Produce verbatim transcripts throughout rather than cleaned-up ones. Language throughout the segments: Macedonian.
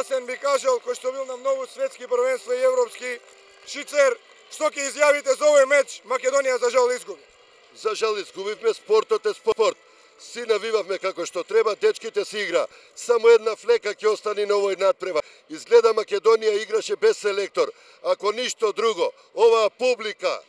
јасен би кажал, кој што бил на многу светски првенства и европски, Шицер, што ќе изјавите за овој меч? Македонија за жал изгуби. За жал изгубивме, спортот е спорт. Си навивавме како што треба, дечките си игра. Само една флека ќе остане на овој надпревар. Изгледа Македонија играше без селектор. Ако ништо друго, оваа публика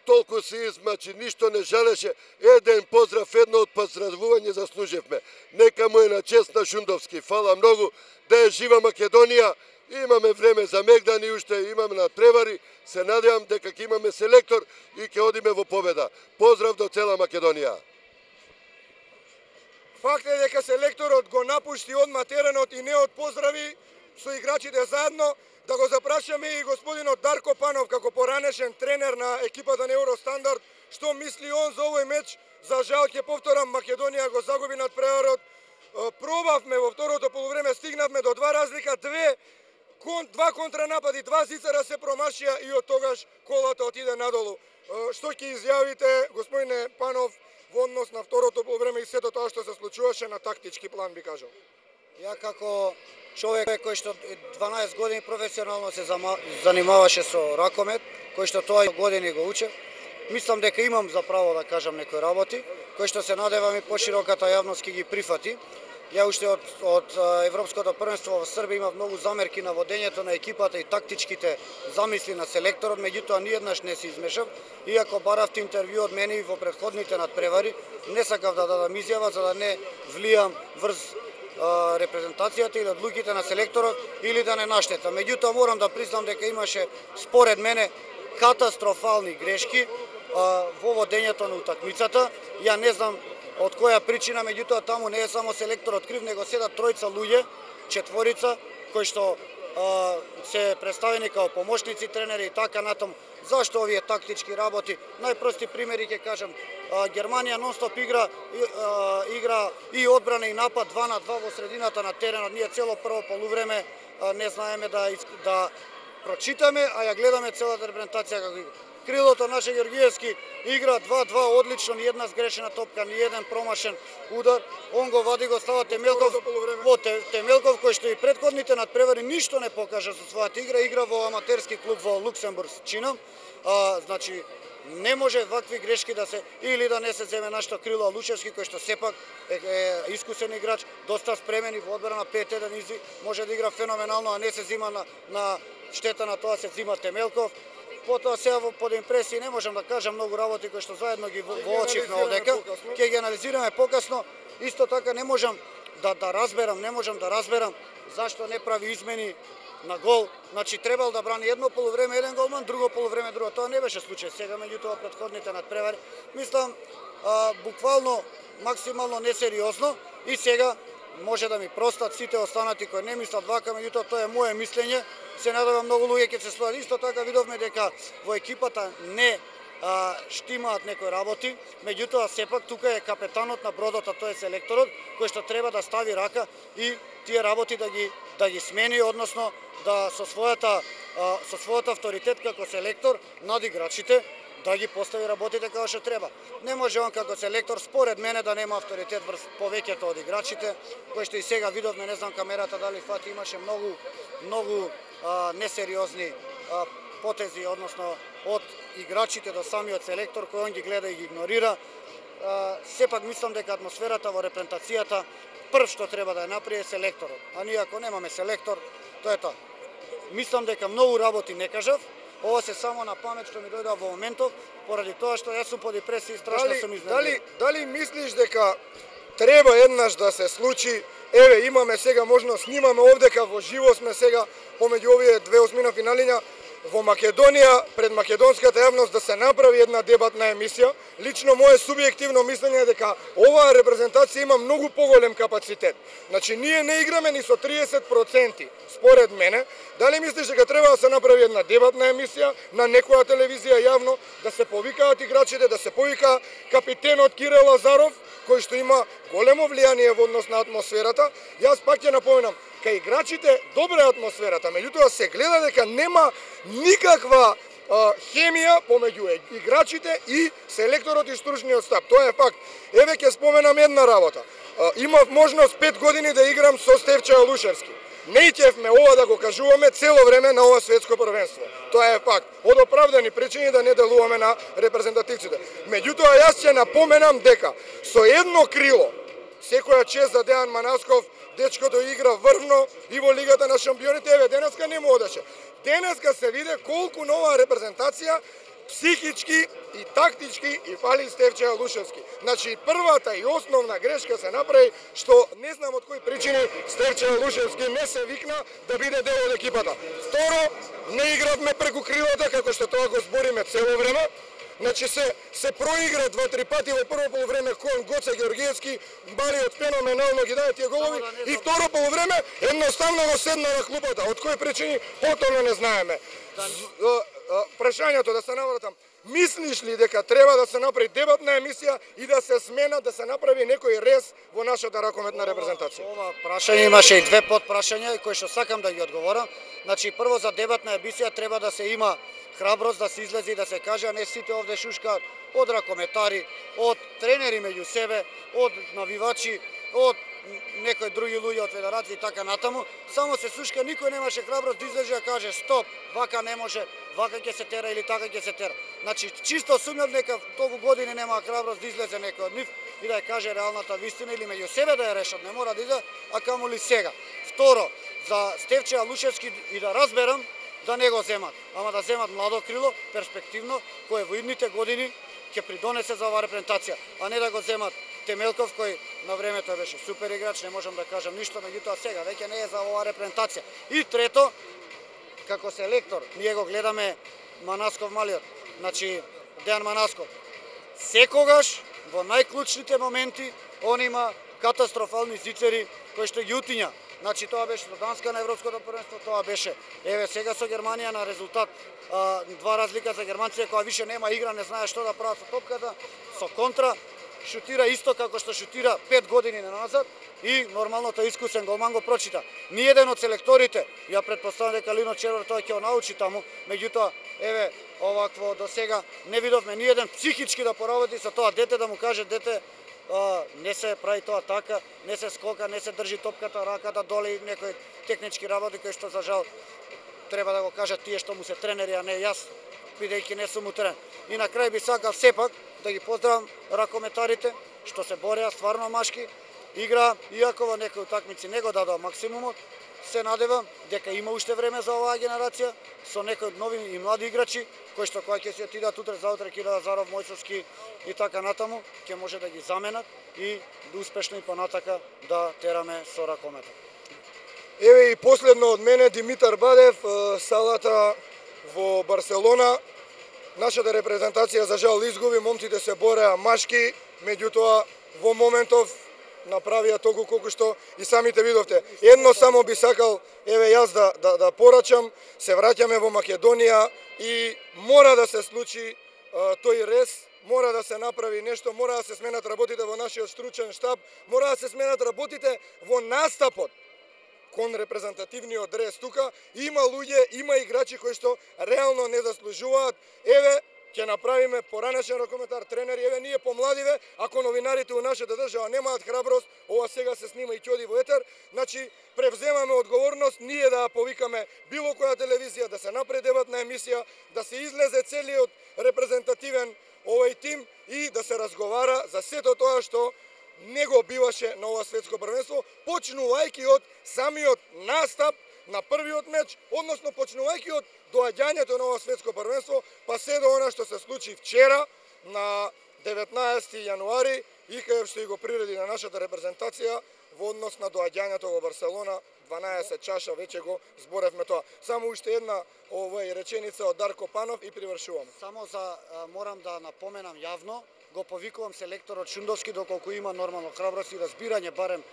толку се измачи, ништо не жалеше. Еден поздрав, едно од поздравување заслуживме. Нека му е на чест на Шундовски. Фала многу, да е жива Македонија. Имаме време за мегдани, уште имаме надпревари. Се надевам дека ќе имаме селектор и ќе одиме во победа. Поздрав до цела Македонија. Факт е дека селекторот го напушти одма теренот и не од поздрави со играчите заедно. Да го запрашаме и господинот Дарко Панов, како поранешен тренер на екипата на Евростандард, што мисли он за овој меч. За жал, ќе повторам, Македонија го загуби надпреварот. Пробавме во второто полувреме, стигнавме до два разлика, две кон, два контранапади, два зицара се промашија и од тогаш колата отиде надолу. Што ќе изјавите, господине Панов, во однос на второто полувреме и сето тоа што се случуваше на тактички план, би кажал? Ја како човек кој што дванаесет години професионално се занимаваше со ракомет, кој што тоа години го уче, мислам дека имам за право да кажам некои работи, кои што се надевам и пошироката јавност ќе ги прифати. Ја уште од, од Европското првенство во Србија имав многу замерки на водењето на екипата и тактичките замисли на селекторот, меѓутоа ниеднаш не се измешав, иако баравте интервју од мене и во претходните надпревари, не сакав да дадам изјава за да не влијам врз а, репрезентацијата или одлуките на селекторот или да не наштетам. Меѓутоа морам да признам дека имаше според мене катастрофални грешки а, во водењето на утакмицата. Ја не знам од која причина, меѓутоа таму не е само селекторот крив, него седат тројца луѓе, четворица, кои што а, се представени као помошници тренери и така натаму. Зашто овие тактички работи? Најпрости примери ќе кажам. А, Германија нонстоп игра, и, а, игра и одбрана и напад два на два во средината на теренот. Ние цело прво полувреме а, не знаеме да, да прочитаме, а ја гледаме целата репрезентација како игра. Крилото наше Георгиевски игра два-два одлично, ни една сгрешена топка, ни еден промашен удар. Он го вади, го става Темелков, во Темелков кој што и претходните надпревари ништо не покажа со својата игра, игра во аматерски клуб во Луксембург, чинам. А, значи не може вакви грешки да се или да не се земе нашто крило Лучевски кој што сепак е, е искусен играч, доста спремен и во одбрана пет еден изи, може да игра феноменално, а не се зима на, на штета на тоа се зима Темелков. Потоа сега под импресии не можам да кажам многу работи кои што заедно ги воочивме овдека, ќе ги анализираме покасно. Исто така не можам да да разберам, не можам да разберам зашто не прави измени на гол. Значи требал да брани едно полувреме еден голман, друго полувреме друго. Тоа не беше случај сега, меѓутоа претходните надпревари. Мислам а, буквално максимално несериозно и сега може да ми простат сите останати кои не мислат вака, меѓутоа тоа е мое мислење. Се надевам многу луѓе ќе се слојат. Исто така видовме дека во екипата не а, штимаат некои работи, меѓутоа сепак тука е капетанот на бродот, а тој е селекторот кој што треба да стави рака и тие работи да ги да ги смени, односно да со својата а, со својот авторитет како селектор над играчите да ги постави работите како што треба. Не може он како селектор според мене да нема авторитет врз повеќето од играчите, кои што и сега видовме, не знам камерата дали фати, имаше многу многу а, несериозни а, потези, односно од играчите до самиот селектор кој он ги гледа и ги игнорира. А, сепак мислам дека атмосферата во репрезентацијата прв што треба да ја направи е селекторот. А ние ако немаме селектор, тоа е тоа. Мислам дека многу работи не кажав. Ова се само на памет што ми дојдоа во моментов, поради тоа што јас сум под депресија и страшно дали, сум изненаден. Дали, дали мислиш дека треба еднаш да се случи? Еве, имаме сега можност, снимаме овдека во живо сме сега помеѓу овие две осмина финалиња во Македонија, пред македонската јавност да се направи една дебатна емисија. Лично мое субјективно мислење е дека оваа репрезентација има многу поголем капацитет. Значи, ние не играме ни со триесет проценти, според мене. Дали мислиш дека треба да се направи една дебатна емисија на некоја телевизија јавно, да се повикаат играчите, да се повика капитенот Кирил Лазаров, кој што има големо влијание во однос на атмосферата? Јас пак ќе напоменам, кај играчите добра е атмосферата, меѓутоа се гледа дека нема никаква а, хемија помеѓу играчите и селекторот и стручниот штаб. Тоа е факт. Еве ќе споменам една работа. А, имав можност пет години да играм со Стевча Лушевски. не ќевме ова да го кажуваме цело време на ова светско првенство. Тоа е факт. Од оправдани причини да не делуваме на репрезентативците. Меѓутоа, јас ќе напоменам дека со едно крило, секоја чест за Дејан Манасков, дечкото игра врвно и во Лигата на шампионите. Еве, денеска не му одеше. Денеска се виде колку нова репрезентација психички и тактички и фали Стефче Алушевски. Значи, првата и основна грешка се направи, што не знам од кои причини Стефче Алушевски не се викна да биде дел од екипата. Второ, не игравме преку крилата, како што тоа го збориме цело време. Значи се се проигра два-три пати во прво полувреме кон Гоце Георгиевски, Балиот феноменално ги даде тие голови и второ полувреме едноставно го седна на клупата. Од кои причини потоно не знаеме. Прашањето да се навратам, мислиш ли дека треба да се направи дебатна емисија и да се смена, да се направи некој рез во нашата ракометна репрезентација? Ова прашање имаше и две подпрашања кои што сакам да ги одговорам. Значи, прво за дебатна емисија треба да се има храброст да се излезе и да се каже, а не сите овде шушкаат од ракометари, од тренери меѓу себе, од навивачи, од некои други луѓе од федерација и така натаму. Само се шушка, никој немаше храброст да излезе да каже стоп, вака не може, вака ќе се тера или така ќе се тера. Значи, чисто сумнав дека толку години нема храброст да излезе некој од нив и да ја каже реалната вистина или меѓу себе да ја решат, не мора да иде, а камоли сега. Второ, за Стефче Алушевски и да разберам, да не го земат, ама да земат младо крило, перспективно, кој во идните години ќе придонесе за оваа репрезентација, а не да го земат Темелков, кој на времето беше супер играч, не можам да кажам ништо, меѓутоа сега веќе не е за оваа репрезентација. И трето, како селектор, ние го гледаме Манасков малиот, значи Дејан Манасков. Секогаш во најклучните моменти он има катастрофални зицери кои што ги утиња. Значи тоа беше со Данска на европското првенство, тоа беше еве сега со Германија на резултат а, два разлика за германците која више нема игра, не знае што да прават со топката, со контра шутира исто како што шутира пет години назад и нормално тој искусен голман го прочита. Ни еден од селекторите, ја претпоставам дека Лино Червар тоа ќе го научи таму, меѓутоа еве овакво до сега не видовме ни еден психички да поработи со тоа дете, да му каже дете Uh, не се прави тоа така, не се скока, не се држи топката, раката доле, некои технички работи кои што за жал треба да го кажат тие што му се тренери, а не јас, бидејќи не сум тренер. И на крај би сакал сепак да ги поздравам ракометарите што се бореа стварно машки, игра, иако во некои утакмици не го дадоа максимумот, се надевам дека има уште време за оваа генерација со некои нови и млади играчи кои што кога ќе се отидат утре заутре Кира Лазаров, Мојсовски и така натаму, ќе може да ги заменат и успешно и понатака да тераме со ракометот. Еве и последно од мене Димитар Бадев, салата во Барселона. Нашата репрезентација за жал изгуби, момците се бореа машки, меѓутоа во моментов направија толку колку што и самите видовте. Едно само би сакал, еве јас да, да, да порачам, се враќаме во Македонија и мора да се случи а, тој рез, мора да се направи нешто, мора да се сменат работите во нашиот стручен штаб, мора да се сменат работите во настапот кон репрезентативниот рез тука. Има луѓе, има играчи кои што реално не заслужуваат. Еве, ќе направиме поранешен ракометар, тренери, еве ние помладиве, ако новинарите у нашата држава немаат храброст, ова сега се снима и ќе оди во етер, значи превземаме одговорност ние да повикаме било која телевизија, да се направи дебатна емисија, да се излезе целиот репрезентативен овој тим и да се разговара за сето тоа што не го биваше на ова светско првенство, почнувајќи од самиот настап на првиот меч, односно почнувајќи од доаѓањето на ова светско првенство, па се до она што се случи вчера на деветнаесети јануари и кај што и го приреди на нашата репрезентација во однос на доаѓањето во Барселона, дванаесет чаша, веќе го зборевме тоа. Само уште една овој реченица од Дарко Панов и привршувам. Само за морам да напоменам јавно, го повикувам селекторот Шундовски доколку има нормално храброст и разбирање барем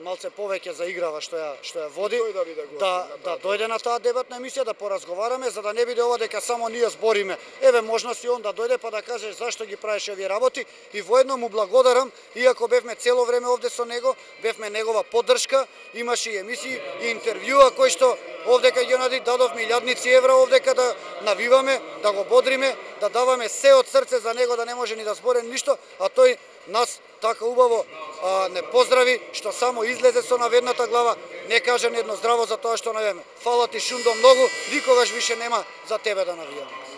малце повеќе за играва што ја што ја води, да, да, да дојде на таа дебатна емисија, да поразговараме, за да не биде ова дека само ние збориме. Еве можност и он да дојде па да каже зашто ги правиш овие работи и воедно му благодарам, иако бевме цело време овде со него, бевме негова поддршка, имаше и емисии и интервјуа кои што овдека ги онади дадовме илјадници евра овдека да навиваме, да го бодриме, да даваме се од срце за него, да не може ни да зборе ништо, а тој нас така убаво а, не поздрави, што само излезе со наведната глава, не каже ни едно здраво за тоа што навијаме. Фала ти Шундо многу, никогаш више нема за тебе да навијаме.